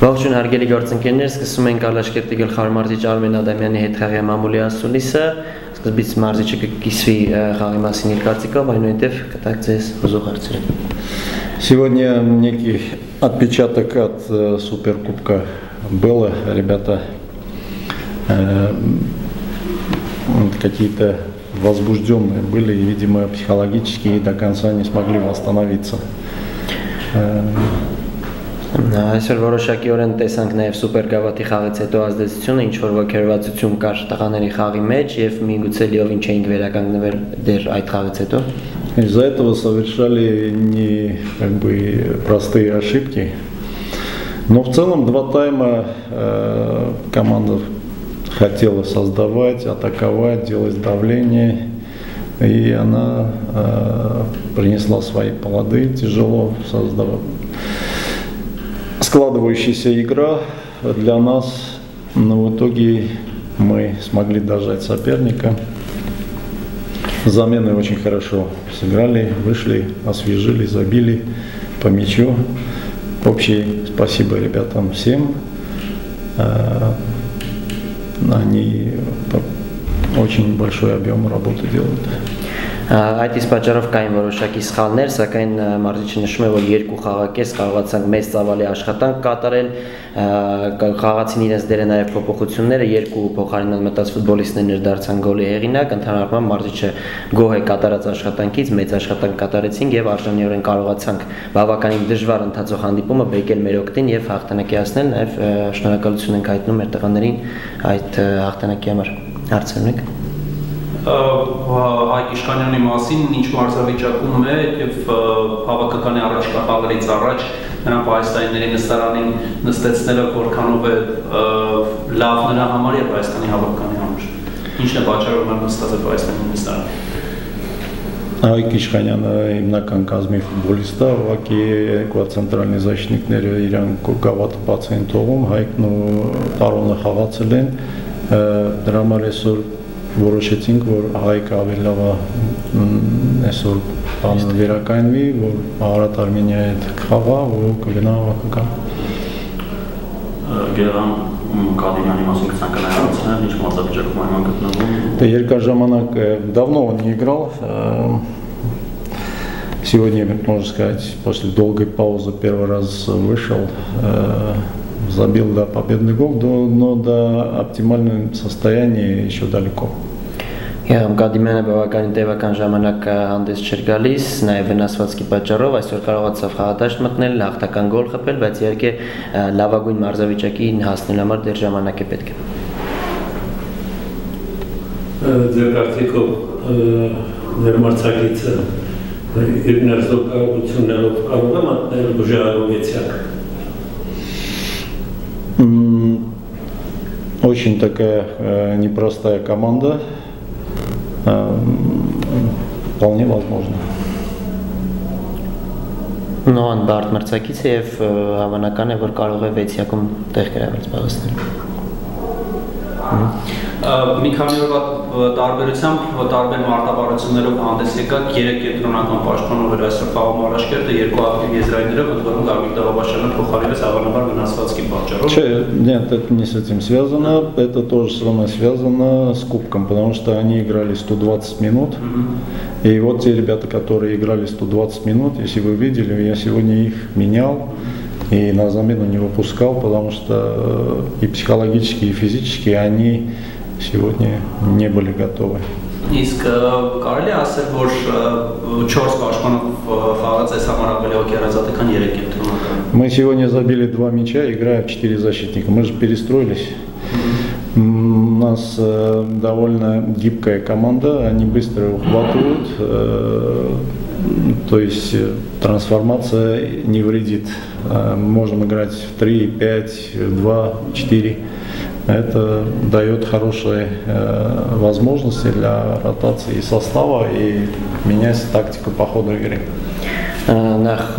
Ողջույն հարգելի գործընկերներ, սկսում ենք Ալաշկերտի գլխավոր մարզիչ Արմեն Ադամյանի հետ խաղի մամուլի ասուլիսը։ Սկզբից մարզիչը կկիսվի խաղի մասին իր կարծիքով, այնուհետև կտակ ձեզ ուզող հարցերը։ Сегодня некий отпечаток от Суперкубка было, ребята какие-то возбужденные были, и, видимо, психологически и до конца не смогли восстановиться. Այսօր որոշակիորեն տեսանք նաև սուպերգավաթի խաղից հետո ազդեցությունը, ինչ որ ոգևորվածություն կար տղաների խաղի մեջ եւ միգուցե լիովին չէինք վերականգնվել դեռ այդ խաղից հետո։ Из-за этого совершали не простые ошибки. Но в целом два тайма команда хотела создавать, атаковать, делать давление, и она принесла свои плоды, тяжело создавать. Складывающаяся игра для нас, но в итоге мы смогли дожать соперника. Замены очень хорошо сыграли, вышли, освежили, забили по мячу. Общее спасибо ребятам всем. Они очень большой объем работы делают. Այդ իսկ պատճառով կային որոշակի սխալներ, սակայն մարզիչը նշում է, որ երկու խաղակես կարողացանք մեծ ծավալի աշխատանք կատարել, խաղացին իրենց դերը նաև փոփոխությունները, երկու փոխարինած մտած ֆուտբոլիստներ դարձան գոլի հեղինակ, ընդհանրապես մարզիչը գոհ է կատարած աշխատանքից, մեծ աշխատանք կատարեցինք եւ արժանիորեն կարողացանք բավականին դժվար ընթացող հանդիպումը բեկել մեր օգտին եւ հաղթանակի հասնել, նաև շնորհակալություն ենք հայտնում մեր տղաներին այդ հաղթանակի համար։ Հարցեր ունեք։ Հայկ Իշխանյանի մասին ինչ մարզավիճակում է եւ հավաքականի առաջկա խաղերից առաջ նրան Հայաստանի նստարանին նստեցնելը որքանով է լավ նրա համար եւ Հայաստանի հավաքականի համար։ Ինչն է պատճառը, որ նստած է Հայաստանի նստարանը։ Հայկ Իշխանյանը հիմնական կազմի ֆուտբոլիստ է, ուղղակի երկու ցենտրալնի защитникները իրան գավաթ բաց են թողում, Հայկն ու Տարոնը խաղացել են, դրա համար այսօր որոշեցինք, որ Հայկը ավելի լավ է այսօր բանը վերականգնվի, որ Արարատ Արմենիայի հետ կխաղա ու կգնա հավաքական։ Գերան Կադիմյանի մասին կցանկանայի հարցնել, ինչ մարզավիճակում այն գտնվում։ Да, երկար ժամանակ давно он не играл. Сегодня, можно сказать, после долгой паузы первый раз вышел. Забил, да, победный гол, но до оптимального состояния еще далеко. Կադիմյանը բավականին տևական ժամանակ հանդես չէր գալիս, նաև վնասվածքի պատճառով այսօր կարողացավ խաղադաշտ մտնել, հաղթական գոլ խփել, բայց իհարկե լավագույն մարզավիճակին հասնելու համար դեռ ժամանակ է պետք։ Ձեր կարծիքով ներմարցակիցը իր ներզոկություններով կարող է մտնել բուժարովեցյակ։ Очень такая непростая команда, вполне возможно. Но он բարդ մրցակից է եւ հավանական է, որ կարող է 6-յակում տեղ գրավել զբաղեցնել։ Մի քանի օրվա տարբերությամբ տարբեր մարտավարություններով հանդես եկաք 3 կենտրոնական պաշտպանող էր այսօր խաղում Ալաշկերտը, երկու ակտիվ եզրայիններով, ընդ որում Գագիկ Դավաբաշյանը փոխարինվեց հավանաբար վնասվածքի պատճառով։ Нет, это не с этим связано, это тоже с вами связано с кубком, потому что они играли 120 минут, и вот те ребята, которые играли 120 минут, если вы видели, я сегодня их менял. И на замену не выпускал, потому что и психологически, и физически они сегодня не были готовы. Իսկ կարելի է ասել, որ 4 պաշտպանով խաղաց այս համար ավելի օկերազատ է, քան 3 կենտրոնական։ Мы сегодня забили 2 мяча, играя в 4 защитника. Мы же перестроились. У нас довольно гибкая команда, они быстро ухватывают, то есть трансформация не вредит. Можем играть в 3, 5, 2, 4. Это дает хорошие возможности для ротации состава и менять тактику по ходу игры. Նախ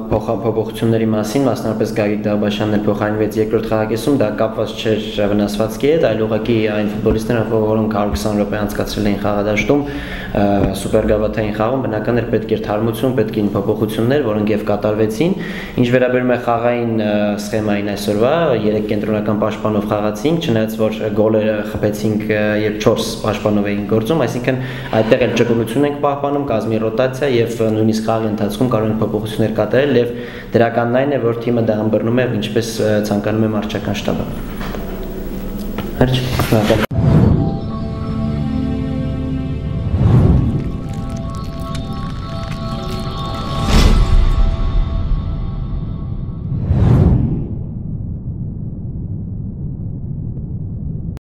փոփոխությունների մասին, մասնավորապես Գագիկ Դավբաշյանն փոխարինվեց երկրորդ խաղակեսում, դա կապված չէր վնասվածքի հետ, այլ ուղղակի այն ֆուտբոլիստները, որոնք 120 րոպե անցկացրել էին խաղադաշտում, սուպերգավաթային խաղում, բնական էր պետք էր թարմություն, պետք էին փոփոխություններ, որոնք եւ կատարվեցին։ Ինչ վերաբերում է խաղային սխեմային այսօրվա, 3 կենտրոնական պաշտպանով խաղացինք, չնայած որ գոլերը խփեցինք, երբ 4 պաշտպանով էին գործում, այսինքն այդտեղ էլ ճկունություն ենք պահպանում, կազմի ռոտացիա եւ նույնիսկ խաղի ընթացքում կարող են փոփոխություններ կատարել եւ դրականն այն է, որ թիմը դա ըմբռնում է, ինչպես ցանկանում է մարզչական շտաբը։